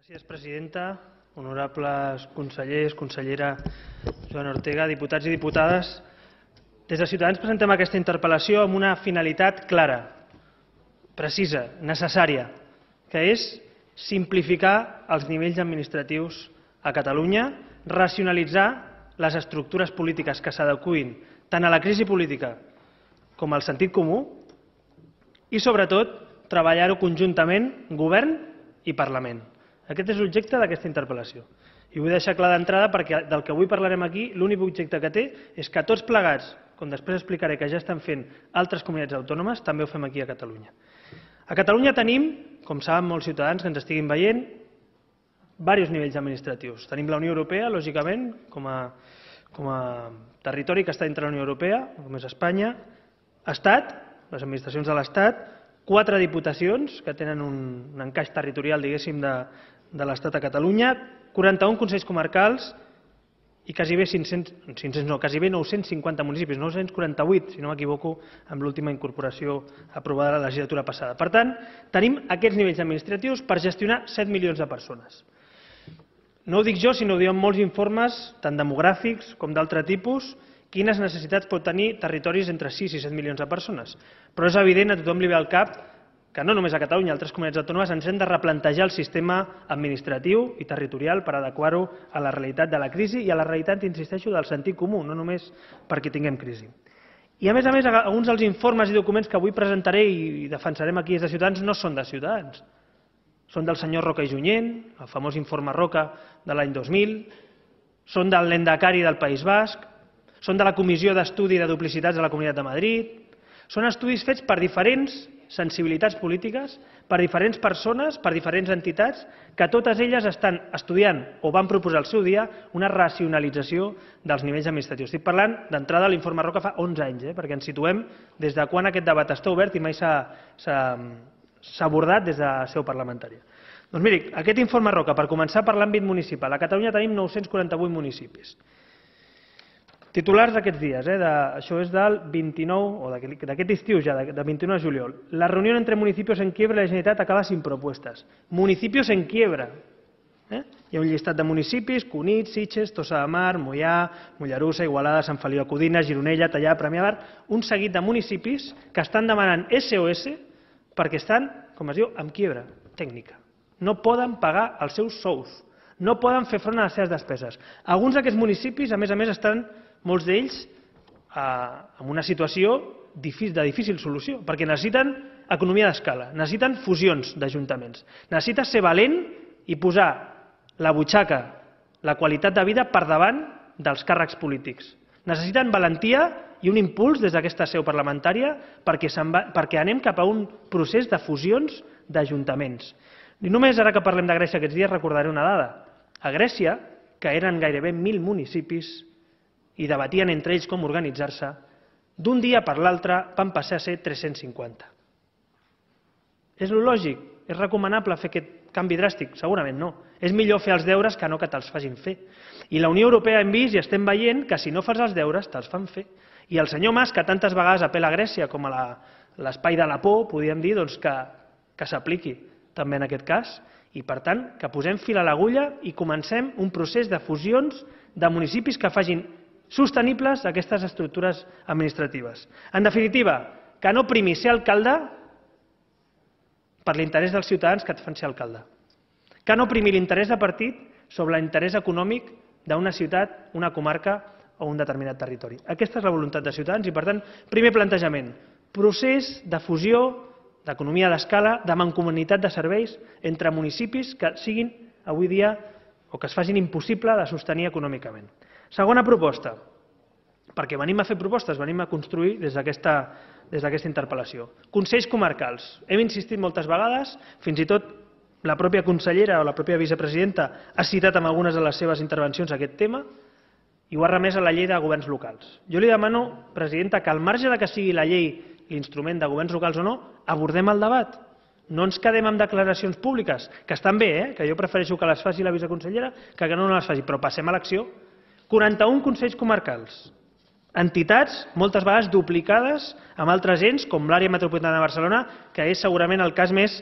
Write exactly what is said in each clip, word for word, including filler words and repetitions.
Gràcies, presidenta. Honorables consellers, consellera Joana Ortega, diputats i diputades. Des de Ciutadans presentem aquesta interpel·lació amb una finalitat clara, precisa, necessària, que és simplificar els nivells administratius a Catalunya, racionalitzar les estructures polítiques que s'adeqüin tant a la crisi política com al sentit comú i, sobretot, treballar-ho conjuntament govern i Parlament. Aquest és l'objecte d'aquesta interpel·lació. I vull deixar clar d'entrada perquè del que avui parlarem aquí, l'únic objecte que té és que tots plegats, com després explicaré que ja estan fent altres comunitats autònomes, també ho fem aquí a Catalunya. A Catalunya tenim, com saben molts ciutadans que ens estiguin veient, diversos nivells administratius. Tenim la Unió Europea, lògicament, com a, com a territori que està dintre de la Unió Europea, com és Espanya, Estat, les administracions de l'Estat, quatre diputacions que tenen un, un encaix territorial, diguéssim, de, de l'Estat a Catalunya, quaranta-un consells comarcals i quasi bé cinc-cents, cinc-cents no, quasi bé nou-cents cinquanta municipis, nou-cents quaranta-vuit, si no m'equivoco, amb l'última incorporació aprovada la legislatura passada. Per tant, tenim aquests nivells administratius per gestionar set milions de persones. No ho dic jo, sinó ho diuen molts informes, tant demogràfics com d'altre tipus, quines necessitats pot tenir territoris entre sis i set milions de persones. Però és evident, a tothom li ve al cap, que no només a Catalunya, altres comunitats autònomes, ens hem de replantejar el sistema administratiu i territorial per adequar-ho a la realitat de la crisi i a la realitat, insisteixo, del sentit comú, no només perquè tinguem crisi. I a més a més, alguns dels informes i documents que avui presentaré i defensarem aquí des de Ciutadans no són de Ciutadans. Són del senyor Roca i Junyent, el famós informe Roca de l'any dos mil, són del Lehendakari del País Basc, són de la Comissió d'Estudi de Duplicitats de la Comunitat de Madrid, són estudis fets per diferents sensibilitats polítiques, per diferents persones, per diferents entitats, que totes elles estan estudiant o van proposar al seu dia una racionalització dels nivells administratius. Estic parlant d'entrada l'informe Roca fa onze anys, eh, perquè ens situem des de quan aquest debat està obert i mai s'ha abordat des de seu parlamentària. Doncs miri, aquest informe Roca, per començar per l'àmbit municipal. A Catalunya tenim nou-cents quaranta-vuit municipis. Titulars d'aquests dies, eh, de, això és del vint-i-nou, o d'aquest estiu ja, de vint-i-nou de juliol. La reunió entre municipios en quiebra de la Generalitat acaba sin propuestas. Municipios en quiebra. Eh? Hi ha un llistat de municipis, Cunit, Sitges, Tossa de Mar, Moià, Mollerussa, Igualada, Sant Feliu de Codines, Gironella, Tallà, Premià de Mar, un seguit de municipis que estan demanant S O S perquè estan, com es diu, en quiebra tècnica. No poden pagar els seus sous, no poden fer front a les seves despeses. Alguns d'aquests municipis, a més a més, estan molts d'ells en una situació de difícil solució, perquè necessiten economia d'escala, necessiten fusions d'ajuntaments, necessiten ser valent i posar la butxaca, la qualitat de vida per davant dels càrrecs polítics. Necessiten valentia i un impuls des d'aquesta seu parlamentària perquè anem cap a un procés de fusions d'ajuntaments. I només ara que parlem de Grècia aquests dies recordaré una dada. A Grècia, que eren gairebé mil municipis, i debatien entre ells com organitzar-se, d'un dia per l'altre van passar a ser tres-cents cinquanta. És lo lògic? És recomanable fer aquest canvi dràstic? Segurament no. És millor fer els deures que no que te'ls facin fer. I la Unió Europea hem vist i estem veient que si no fas els deures te'ls fan fer. I el senyor Mas, que tantes vegades apela a Grècia com a l'espai de la por, podríem dir que s'apliqui també en aquest cas, i per tant que posem fil a l'agulla i comencem un procés de fusions de municipis que facin sostenibles aquestes estructures administratives. En definitiva, que no primi ser alcalde per l'interès dels ciutadans que et fan ser alcalde. Que no primi l'interès de partit sobre l'interès econòmic d'una ciutat, una comarca o un determinat territori. Aquesta és la voluntat de Ciutadans i, per tant, primer plantejament, procés de fusió d'economia d'escala, de mancomunitat de serveis entre municipis que siguin avui dia o que es facin impossible de sostenir econòmicament. Segona proposta, perquè venim a fer propostes, venim a construir des d'aquesta interpel·lació. Consells comarcals. Hem insistit moltes vegades, fins i tot la pròpia consellera o la pròpia vicepresidenta ha citat en algunes de les seves intervencions aquest tema i ho ha remès a la llei de governs locals. Jo li demano, presidenta, que al marge de que sigui la llei l'instrument de governs locals o no, abordem el debat. No ens quedem amb declaracions públiques, que estan bé, eh? Que jo prefereixo que les faci la viceconsellera que que no les faci, però passem a l'acció. quaranta-un consells comarcals, entitats moltes vegades duplicades amb altres ens, com l'àrea metropolitana de Barcelona, que és segurament el cas més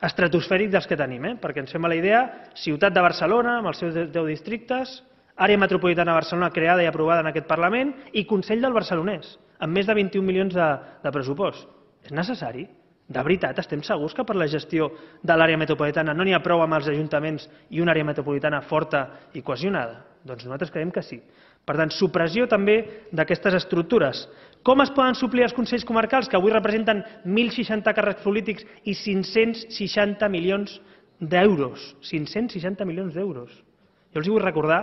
estratosfèric dels que tenim, eh? Perquè ens fem a la idea, ciutat de Barcelona, amb els seus deu districtes, àrea metropolitana de Barcelona creada i aprovada en aquest Parlament i Consell del Barcelonès, amb més de vint-i-un milions de, de pressupost. És necessari? De veritat, estem segurs que per la gestió de l'àrea metropolitana no n'hi ha prou amb els ajuntaments i una àrea metropolitana forta i cohesionada? Doncs nosaltres creiem que sí. Per tant, supressió també d'aquestes estructures. Com es poden suplir els consells comarcals, que avui representen mil seixanta càrrecs polítics i cinc-cents seixanta milions d'euros? cinc-cents seixanta milions d'euros. Jo els vull recordar,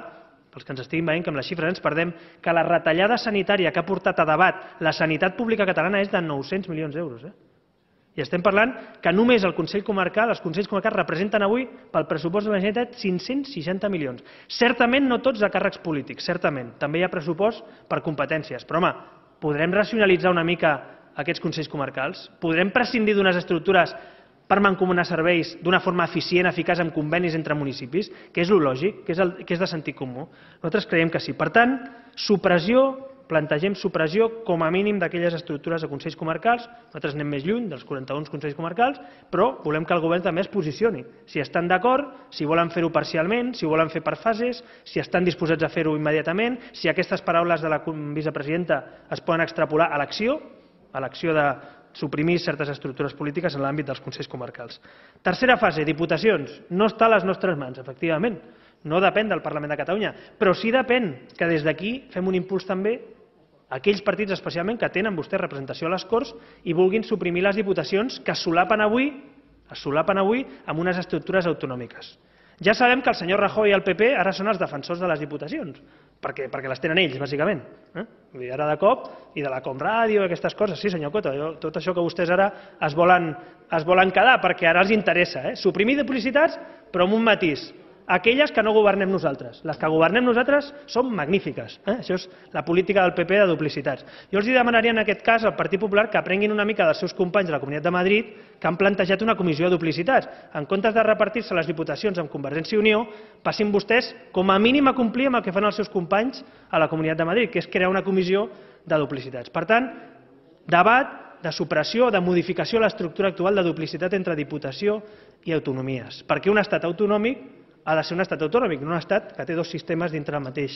pels que ens estiguin veient, que amb les xifres ens perdem, que la retallada sanitària que ha portat a debat la sanitat pública catalana és de nou-cents milions d'euros. Eh? I estem parlant que només el Consell Comarcal, els Consells Comarcals representen avui pel pressupost de la Generalitat cinc-cents seixanta milions. Certament no tots de càrrecs polítics, certament. També hi ha pressupost per competències. Però, home, podrem racionalitzar una mica aquests Consells Comarcals? Podrem prescindir d'unes estructures per mancomunar serveis d'una forma eficient, eficaç, amb convenis entre municipis, que és el lògic, que és, el, que és de sentit comú? Nosaltres creiem que sí. Per tant, supressió, plantegem supressió com a mínim d'aquelles estructures de Consells Comarcals. Nosaltres anem més lluny dels quaranta-un Consells Comarcals, però volem que el govern també es posicioni. Si estan d'acord, si volen fer-ho parcialment, si volen fer per fases, si estan disposats a fer-ho immediatament, si aquestes paraules de la vicepresidenta es poden extrapolar a l'acció, a l'acció de suprimir certes estructures polítiques en l'àmbit dels Consells Comarcals. Tercera fase, diputacions. No està a les nostres mans, efectivament. No depèn del Parlament de Catalunya, però sí depèn que des d'aquí fem un impuls també a aquells partits especialment que tenen vostès representació a les Corts i vulguin suprimir les diputacions que es solapen avui, es solapen avui amb unes estructures autonòmiques. Ja sabem que el senyor Rajoy i el P P ara són els defensors de les diputacions, perquè, perquè les tenen ells, bàsicament. Eh? Vull dir, ara de cop, i de la Comràdio, aquestes coses. Sí, senyor Coto, jo, tot això que vostès ara es volen, es volen quedar, perquè ara els interessa. Eh? Suprimir duplicitats, però amb un matís. Aquelles que no governem nosaltres. Les que governem nosaltres són magnífiques. Eh? Això és la política del P P de duplicitats. Jo els demanaria en aquest cas al Partit Popular que aprenguin una mica dels seus companys de la Comunitat de Madrid que han plantejat una comissió de duplicitats. En comptes de repartir-se les diputacions amb Convergència i Unió, passin vostès com a mínim a complir amb el que fan els seus companys a la Comunitat de Madrid, que és crear una comissió de duplicitats. Per tant, debat de supressió, de modificació de l'estructura actual de duplicitat entre diputació i autonomies. Perquè un estat autonòmic ha de ser un estat autonòmic, no un estat que té dos sistemes dintre del mateix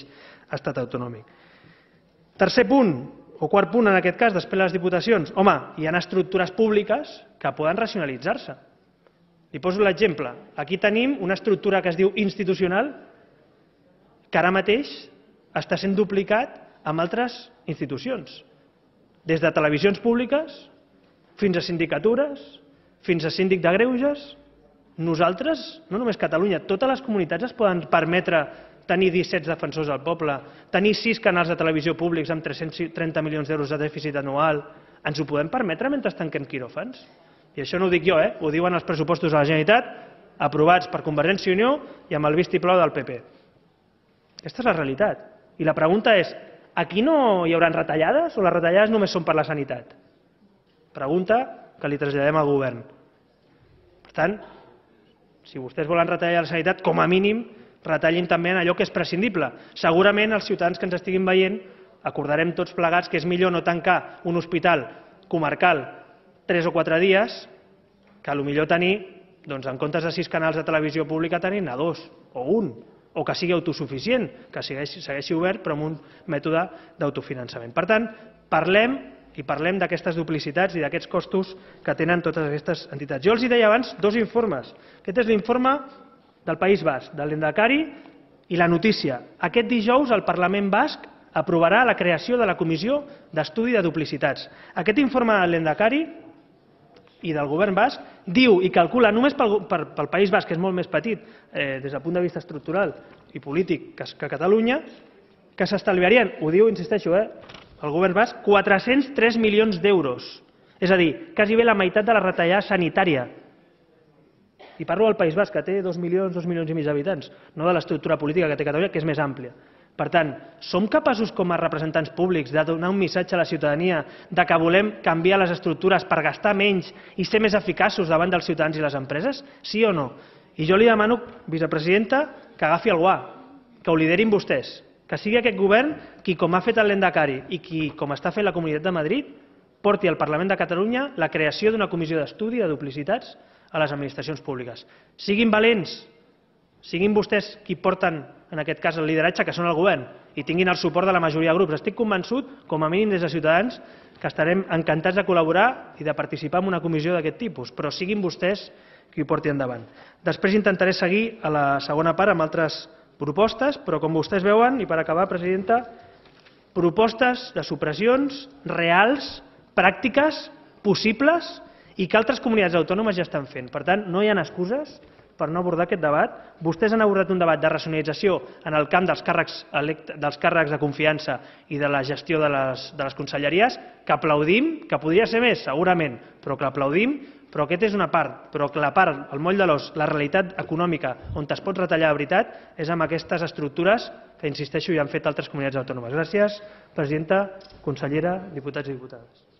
estat autonòmic. Tercer punt, o quart punt en aquest cas, després de les diputacions. Home, hi ha estructures públiques que poden racionalitzar-se. Li poso l'exemple. Aquí tenim una estructura que es diu institucional que ara mateix està sent duplicat amb altres institucions. Des de televisions públiques fins a sindicatures, fins a síndic de greuges. Nosaltres, no només Catalunya, totes les comunitats es poden permetre tenir disset defensors del poble, tenir sis canals de televisió públics amb tres-cents trenta milions d'euros de dèficit anual. Ens ho podem permetre mentre tanquem quiròfans? I això no ho dic jo, eh? Ho diuen els pressupostos de la Generalitat, aprovats per Convergència i Unió i amb el vistiplau del P P. Aquesta és la realitat. I la pregunta és, aquí no hi haurà retallades o les retallades només són per la sanitat? Pregunta que li traslladem al govern. Per tant, si vostès volen retallar la sanitat, com a mínim, retallin també en allò que és prescindible. Segurament els ciutadans que ens estiguin veient acordarem tots plegats que és millor no tancar un hospital comarcal tres o quatre dies que potser tenir, doncs, en comptes de sis canals de televisió pública, tenir-ne dos o un, o que sigui autosuficient, que segueixi, segueixi obert però amb un mètode d'autofinançament. Per tant, parlem i parlem d'aquestes duplicitats i d'aquests costos que tenen totes aquestes entitats. Jo els deia abans dos informes. Aquest és l'informe del País Basc, de l'Endacari i la notícia. Aquest dijous el Parlament Basc aprovarà la creació de la Comissió d'Estudi de Duplicitats. Aquest informe de l'Endacari i del govern basc diu i calcula només pel, per, pel País Basc, que és molt més petit eh, des del punt de vista estructural i polític que, que Catalunya, que s'estalviarien, ho diu, insisteixo, eh, el govern basc, quatre-cents tres milions d'euros. És a dir, quasi bé la meitat de la retallada sanitària. I parlo del País Basc, que té dos milions, dos milions i mig d'habitants, no de l'estructura política que té Catalunya, que és més àmplia. Per tant, som capaços com a representants públics de donar un missatge a la ciutadania de que volem canviar les estructures per gastar menys i ser més eficaços davant dels ciutadans i les empreses? Sí o no? I jo li demano, vicepresidenta, que agafi el guà, que ho liderin vostès, que sigui aquest govern qui, com ha fet el Lehendakari i qui, com està fent la Comunitat de Madrid, porti al Parlament de Catalunya la creació d'una comissió d'estudi de duplicitats a les administracions públiques. Siguin valents, siguin vostès qui porten, en aquest cas, el lideratge, que són el govern, i tinguin el suport de la majoria de grups. Estic convençut, com a mínim des de Ciutadans, que estarem encantats de col·laborar i de participar en una comissió d'aquest tipus, però siguin vostès qui ho porti endavant. Després intentaré seguir a la segona part amb altres propostes, però com vostès veuen, i per acabar, presidenta, propostes de supressions reals, pràctiques, possibles i que altres comunitats autònomes ja estan fent. Per tant, no hi ha excuses per no abordar aquest debat. Vostès han abordat un debat de racionalització en el camp dels càrrecs, dels càrrecs de confiança i de la gestió de les, de les conselleries, que aplaudim, que podria ser més, segurament, però que aplaudim, però aquest és una part, però que la part, el moll de l'os, la realitat econòmica on es pot retallar de veritat és amb aquestes estructures que, insisteixo, ja han fet altres comunitats autònomes. Gràcies, presidenta, consellera, diputats i diputades.